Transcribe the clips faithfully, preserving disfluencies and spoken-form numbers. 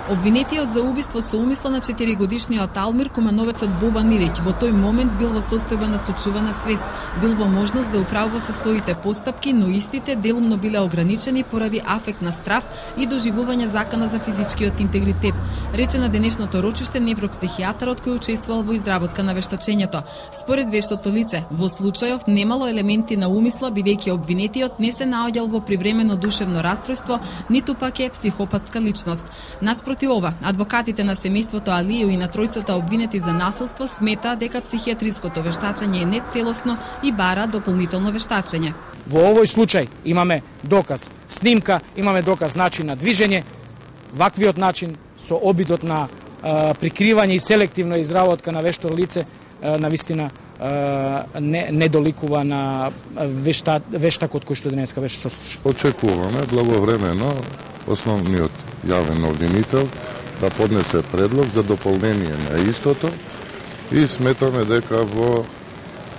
Обвинетиот за убиство со умисла на четиригодишниот Алмир, кумановецот Бобан Илиќ, во тој момент бил во состојба на сочувана свест, бил во можност да управува со своите постапки, но истите делумно биле ограничени поради афект на страв и доживување закана за физичкиот интегритет, рече на денешното рочиште невропсихијатарот кој учествувал во изработка на вештачењето. Според вештото лице, во случајов немало елементи на умисла, бидејќи обвинетиот не се наоѓал во привремено душевно расстройство, ниту пак е психопатска личност. Наспроти ова, адвокатите на семејството Алију и на тројцата обвинети за насилство сметаат дека психијатриското вештачење е нецелосно и бара дополнително вештачење. Во овој случај имаме доказ снимка, имаме доказ начин на движење. Ваквиот начин со обидот на а, прикривање и селективна изработка на вешто лице а, на вистина а, не, не доликува на вешта, вештакот кој што денеска беше сослушан. Очекуваме благовремено основниот јавен обвинител да поднесе предлог за дополнение на истото и сметаме дека во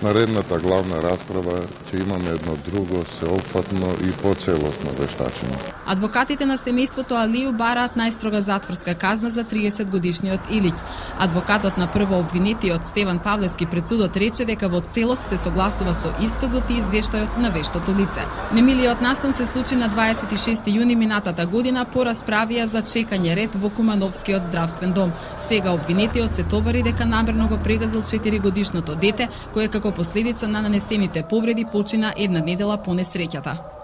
наредната главна расправа ќе имаме едно друго сеопфатно и поцелосно вештачење. Адвокатите на семејството Алију бараат најстрога затворска казна за триесет годишниот Илиќ. Адвокатот на прво обвинетиот Стеван Павлевски пред судот рече дека во целост се согласува со исказот и извештајот на вештото лице. Немилиот настан се случи на дваесет и шести јуни минатата година по расправија за чекање ред во Кумановскиот здравствен дом. Сега обвинетиот се товари дека намерно го прегазил четиригодишното дете, кое како последица на нанесените повреди почина една недела по несреќата.